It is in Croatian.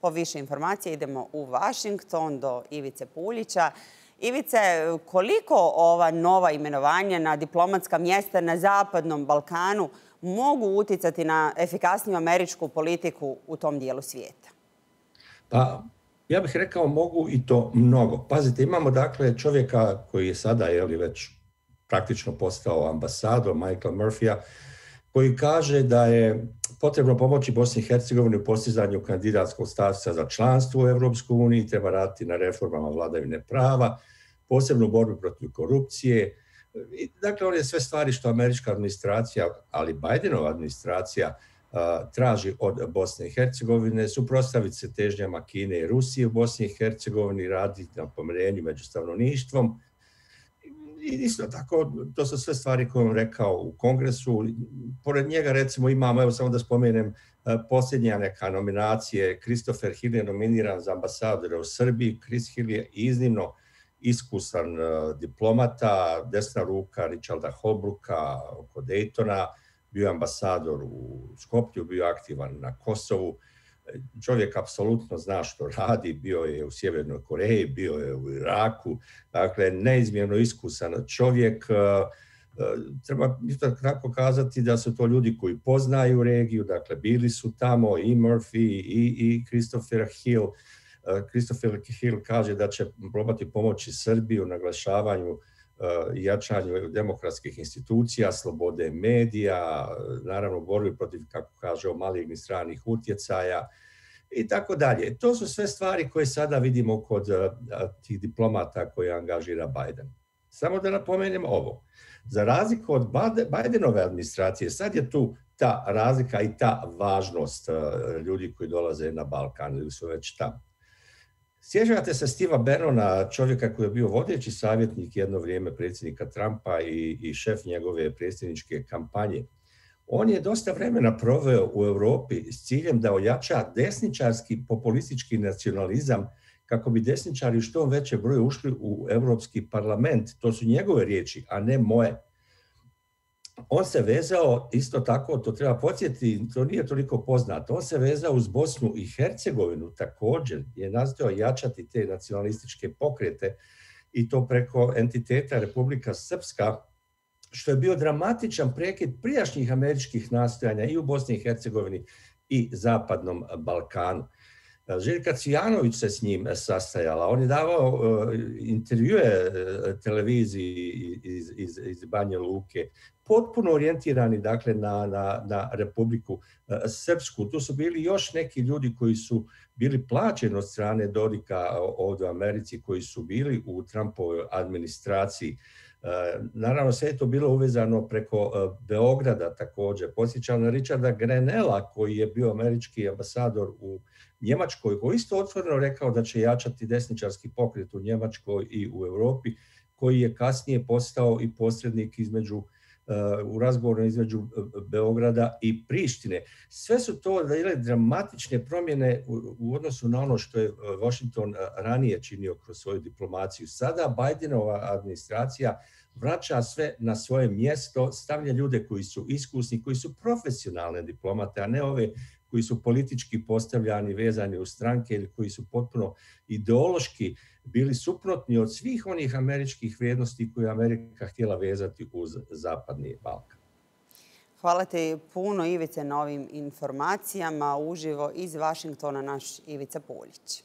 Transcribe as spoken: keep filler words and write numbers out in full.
Po više informacija idemo u Washington do Ivice Puljića. Ivice, koliko ova nova imenovanja na diplomatska mjesta na Zapadnom Balkanu mogu uticati na efikasniju američku politiku u tom dijelu svijeta? Pa, ja bih rekao mogu i to mnogo. Pazite, imamo dakle čovjeka koji je sada je li već praktično postao ambasador, Michaela Murphyja, koji kaže da je potrebno pomoći Bosni i Hercegovini u postizanju kandidatskog statusa za članstvo u Europskoj uniji, treba raditi na reformama vladavine prava, posebno u borbi protiv korupcije. Dakle, on je sve stvari što američka administracija, ali Bidenova administracija traži od Bosne i Hercegovine, suprotstaviti se težnjama Kine i Rusije u Bosni i Hercegovini, raditi na pomirenju među stanovništvom. I isto tako, to su sve stvari koje on rekao u Kongresu. Pored njega, recimo, imamo, evo samo da spomenem, posljednja neka nominacije. Christopher Hill je nominiran za ambasadora u Srbiji. Chris Hill je iznimno iskusan diplomata, desna ruka Richarda Holbrooka oko Daytona, bio je ambasador u Skoplju, bio aktivan na Kosovu. Čovjek apsolutno zna što radi, bio je u Sjevernoj Koreji, bio je u Iraku, dakle neizmjerno iskusan čovjek. Treba isto tako kazati da su to ljudi koji poznaju regiju, dakle bili su tamo i Murphy i, i Christopher Hill. Christopher Hill kaže da će probati pomoći Srbiji u naglašavanju i jačanju demokratskih institucija, slobode medija, naravno borbi protiv, kako kaže, malignih stranih utjecaja i tako dalje. To su sve stvari koje sada vidimo kod tih diplomata koje angažira Biden. Samo da napomenem ovo. Za razliku od Bidenove administracije, sad je tu ta razlika i ta važnost ljudi koji dolaze na Balkan ili su već tamo. Sjećate se Steva Bannona, čovjeka koji je bio vodeći savjetnik jedno vrijeme predsjednika Trumpa i, i šef njegove predsjedničke kampanje. On je dosta vremena proveo u Europi s ciljem da ojača desničarski populistički nacionalizam kako bi desničari u što veće broje ušli u Europski parlament. To su njegove riječi, a ne moje. On se vezao, isto tako, to treba podsjetiti, to nije toliko poznato, on se vezao uz Bosnu i Hercegovinu također, je nastojao jačati te nacionalističke pokrete i to preko entiteta Republika Srpska, što je bio dramatičan prekid prijašnjih američkih nastojanja i u Bosni i Hercegovini i Zapadnom Balkanu. Željka Cvijanović se s njim sastajala. On je davao uh, intervjue uh, televiziji iz, iz, iz Banja Luke, potpuno orijentirani dakle, na, na, na Republiku uh, Srpsku. Tu su bili još neki ljudi koji su bili plaćeni od strane Dodika ovdje u Americi, koji su bili u Trumpovoj administraciji. Uh, naravno, sve je to bilo uvezano preko uh, Beograda također. Podsjećam na Richarda Grenella, koji je bio američki ambasador u Njemačkoj, koji isto otvoreno rekao da će jačati desničarski pokret u Njemačkoj i u Europi, koji je kasnije postao i posrednik između, uh, u razgovoru između Beograda i Prištine. Sve su to dramatične promjene u, u odnosu na ono što je Washington ranije činio kroz svoju diplomaciju. Sada Bidenova administracija vraća sve na svoje mjesto, stavlja ljude koji su iskusni, koji su profesionalne diplomate, a ne ove koji su politički postavljani, vezani u stranke ili koji su potpuno ideološki bili suprotni od svih onih američkih vrijednosti koje je Amerika htjela vezati uz Zapadni Balkan. Hvala ti puno, Ivice, na ovim informacijama. Uživo iz Washingtona naš Ivica Puljić.